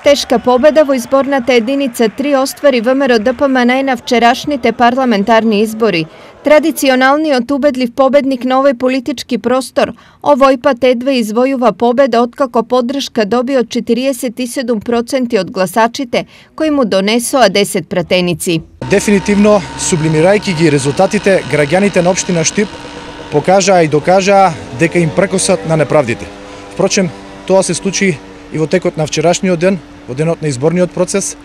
Тешка победа во изборната единица 3 оствари ВМРО ДПМН на вчерашните парламентарни избори. Традиционалниот убедлив победник на овој политички простор, овој пат едва извојува победа откако поддршка доби од 47% од гласачите, кои му донесоа 10 пратеници. Дефинитивно, сублимирајќи ги резултатите, граѓаните на општина Штип покажаа и докажаа дека им прекосат на неправдите. Впрочем, тоа се случи и во текот на вчерашниот ден, во денот на изборниот процес.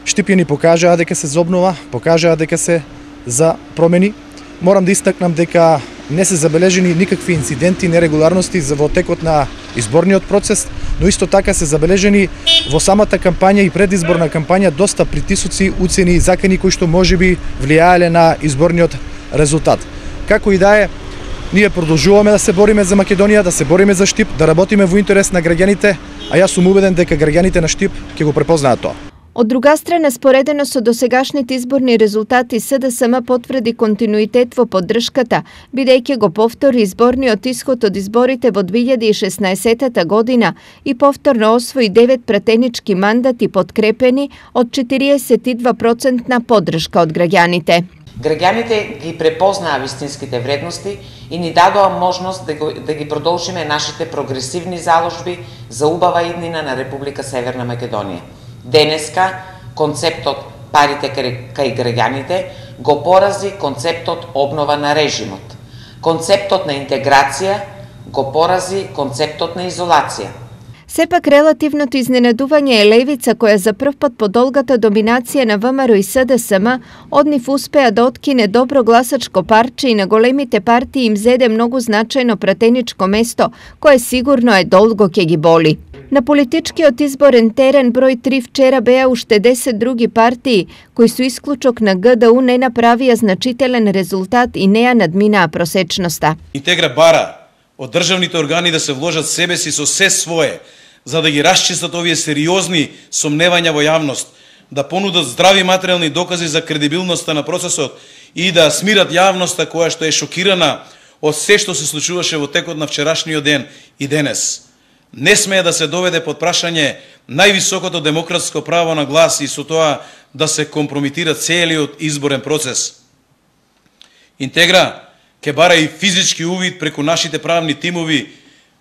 Штипјани покажаа дека се за обнова, покажаа дека се за промени. Морам да истакнам дека не се забележени никакви инциденти, нерегуларности во текот на изборниот процес, но исто така се забележени во самата кампања и предизборна кампања доста притисоци, уцени и закани кои што можеби влијаеле на изборниот резултат. Како и да е, ние продолжуваме да се бориме за Македонија, да се бориме за Штип, да работиме во интерес на граѓаните, а јас сум убеден дека граѓаните на Штип ќе го препознаат тоа. Од друга страна, споредено со досегашните изборни резултати, СДСМ потврди континуитет во поддршката, бидејќи го повтори изборниот исход од изборите во 2016 година и повторно освои 9 пратенички мандати подкрепени од 42% поддршка од граѓаните. Граѓаните ги препознаа вистинските вредности и ни дадоа можност да ги продолжиме нашите прогресивни заложби за убава иднина на Република Северна Македонија. Денеска концептот парите кај граѓаните го порази концептот обнова на режимот. Концептот на интеграција го порази концептот на изолација. Сепак релативното изненадување е левица која за прв пат по долгата доминација на ВМРО и СДСМ од нив успеа да откине добро гласачко парче и на големите партии им зеде многу значајно пратеничко место, кое сигурно е долго ќе ги боли. На политичкиот изборен терен број 3 вчера беа уште 10 други партии, кои со исклучок на ГДУ не направија значителен резултат и не ја надминаа просечноста. Интегра бара од државните органи да се вложат себе си со се свое, за да ги расчистат овие сериозни сомневања во јавност, да понудат здрави материјални докази за кредибилноста на процесот и да смират јавноста која што е шокирана од се што се случуваше во текот на вчерашниот ден и денес. Не смее да се доведе под прашање највисокото демократско право на глас и со тоа да се компрометира целиот изборен процес. Интегра ќе бара и физички увид преку нашите правни тимови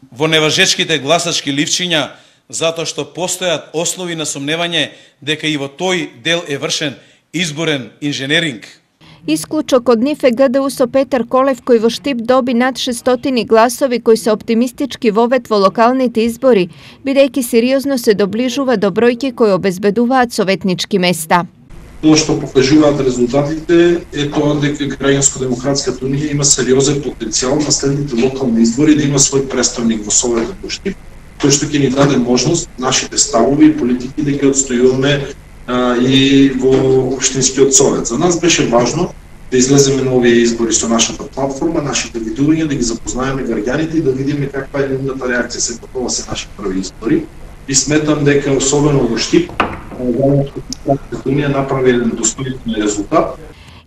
во неважечките гласачки ливчиња, затоа што постојат основи на сомневање дека и во тој дел е вршен изборен инженеринг. Исклучок од нив е ГДУ со Петар Колев, кој во Штип доби над 600 гласови кои се оптимистички вовет во локалните избори, бидејќи сериозно се доближува до бројки кои обезбедуваат советнички места. Тоа што покажуваат резултатите е тоа дека Граѓанско-демократската унија има сериозен потенцијал на следните локални избори да има свој представник во Советот во Штип, кој што ќе ни даде можност нашите ставови и политики да ги отстојуваме и во Општинскиот совет. За нас беше важно да излеземе на овие избори со нашата платформа, нашите видувања, да ги запознаеме граѓаните и да видиме каква е нивната реакција. Сепак ова се наши први избори и сметам дека особено во Штип Унија направи еден достојствен резултат.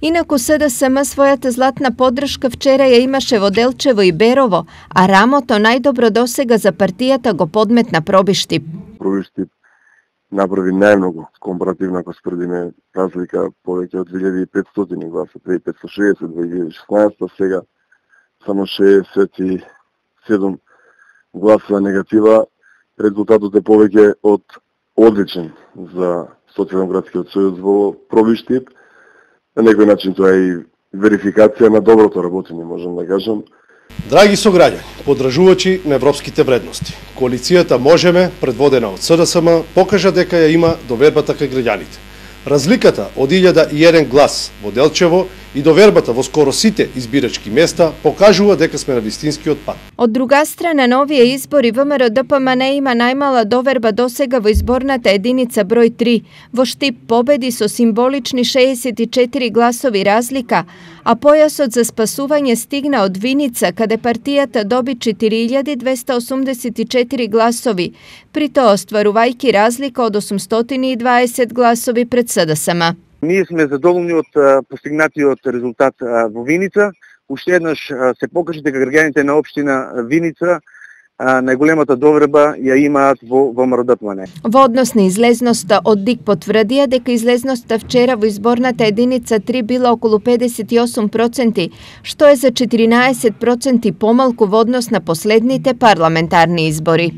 Инаку СДСМ својата златна поддршка вчера ја имаше во Делчево и Берово, а рамото најдобро досега за партијата го подметна Проби Штип. Проби Штип направи најмногу компаративно ако спредиме разлика повеќе од 2500 гласа, 2560 2016, сега само 67 гласа негатива. Резултатот е повеќе од одличен за Социјалдемократскиот сојуз во Проби Штип. На некој начин тоа е и верификација на доброто работење, можам да кажам. Драги сограѓани, поддржувачи на европските вредности, коалицијата Можеме, предводена од СДСМ, покажа дека ја има довербата кај граѓаните. Разликата од 1001 глас во Делчево и довербата во скоро сите избирачки места покажува дека сме на вистинскиот пат. Од друга страна, на овие избори ВМРО ДПМН има најмала доверба досега во изборната единица број 3. Во Штип победи со символични 64 гласови разлика, а појасот за спасување стигна од Виница, каде партијата доби 4284 гласови, при тоа остварувајќи разлика од 820 гласови пред СДСМ. Ние сме задоволни од постигнатиот резултат во Виница. Уште еднаш се покажа дека граѓаните на општина Виница најголемата доверба ја имаат во ВМРО-ДПМН. Во однос на излезноста, од ДИК потврдија дека излезноста вчера во изборната единица 3 била околу 58%, што е за 14% помалку во однос на последните парламентарни избори.